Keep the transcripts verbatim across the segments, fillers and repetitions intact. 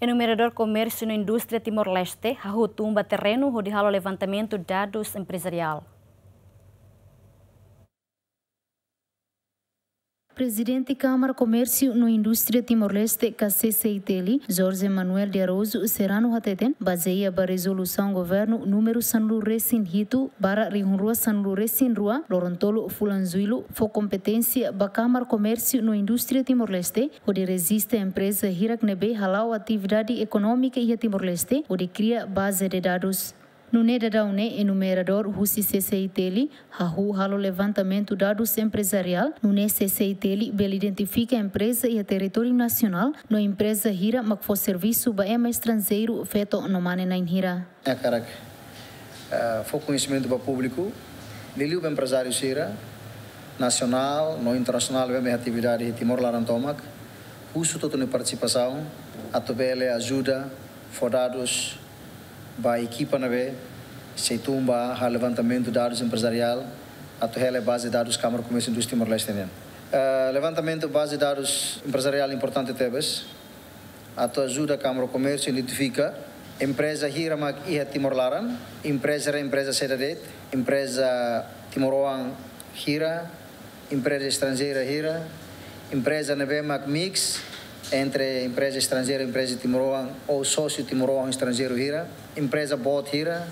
Enumeradór Komérsiu no Indústria Timor-Leste hahú tun ba terrenu hodi halo levantamentu dadus emprezariál. Prezidente Kámara Komérsiu no Indústria Timor-Leste, ka C C I T L, Jorge Manuel de Araújo Serrano hateten, bazeia ba rezolusaun governu númeru sanulu-resin-hitu barra rihun rua sanulu-resin-rua, loron tolu fulan Jullu, fó kompeténsia ba Kámara Komérsiu no Indústria Timor-Leste hodi rejista empreza hirak ne'ebé hala'o atividade ekonómika iha Timor-Leste hodi kria baze de dadus. Nune'e daudaun ne'e enumeradór husi C C I T L hahú halo levantamentu dadus emprezariál, nune'e C C I T L bele identifika empreza iha territóriu nasionál no empreza hira mak fó servisu ba ema estranjeiru, feto no mane-na'in hira. Hakarak, eh, fó koñesimentu ba públiku, liuliu ba emprezáriu sira, nasionál no internasionál, ne'ebé atividade iha Timor laran tomak, husu hotu nia partisipasaun, atu bele ajuda, fó dadus ba ekipa ne'ebé sei tun ba halo levantamentu dadus emprezariál, atu hela baze dadus Kámara Komérsiu Indústria Timor-Leste nian. Eh, levantamentu baze dadus emprezariál importante tebes, atu ajuda Kámara Komérsiu identifika empreza hira mak iha Timor laran, empreza hira, empreza saida de'it, empreza timoroan hira, empreza estranjeira hira, empreza ne'ebé mak mix entre empreza estranjeira, empreza timoroan ou sósiu timoroan estranjeiru hira, empreza boot hira,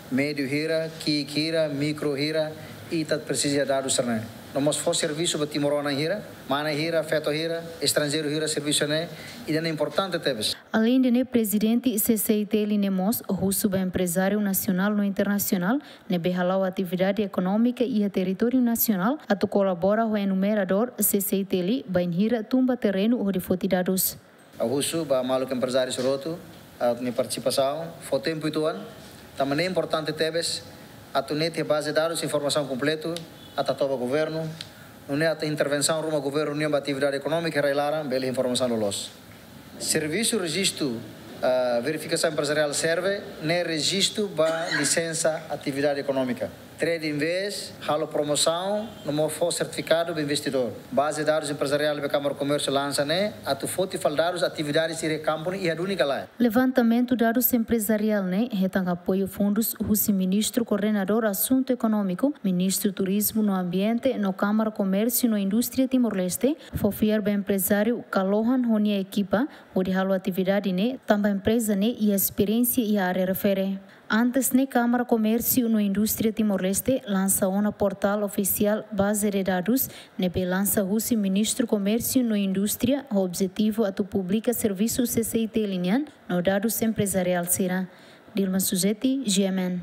médiu hira, ki'ik hira, mikro hira, ita presiza dadus sira-ne'e. No mós fó servisu ba timoroan hira, mane hira, feto hira, estranjeiru hira, servisu ne'e, ida-ne'e importante tebes. Aleinde ne'e, prezidente C C I T L ne'e mós husu ba emprezáriu nasionál no internasionál ne'ebé hala'o atividade ekonómika iha territóriu nasionál atu kolabora ho enumeradór C C I T L bainhira tun ba terrenu hodi foti dadus. Ha'u husu ba maluk emprezáriu sira hotu, ah, nia partisipasaun, fó tempu uitoan, tanba ne'e importante tebes atu netik baze dadus informasaun kompletu, atu hato'o ba governu, nune'e atu intervensaun ruma governu nian ba atividade ekonómika rai-laran, bele informasaun loloos. Servisu rejistu, ah, verifikasaun emprezariál serve ne'e rejistu ba lisensa atividade ekonómika. Trade invest, halo promosaun, no mós fó sertifikadu ba investidór. Baze dadus emprezariál ne'ebé Kámara Komérsiu lansa ne'e, atu foti fali dadus atividade sira iha kampu ne'e iha duni ka lae. Levantamentu dadus emprezariál ne'e hetan apoiu fundus husi Ministru Koordenadór Asuntu Ekonómiku, Ministru Turizmu no Ambiente no Kámara Komérsiu no Indústria Timor-Leste, fó fiar ba emprezáriu Kalohan ho nia ekipa hodi halo atividade ne'e, tanba empreza ne'e iha esperiénsia iha área refere. Antes ne'e, Kámara Komérsiu no Indústria Timor-Leste lansa ona portál ofisiál baze de dadus ne'ebé lansa husi Ministru Komérsiu no Indústria, ho objetivu atu publika servisu C C I T L nian no dadus emprezariál sira. Dilma Suzeti, G M N.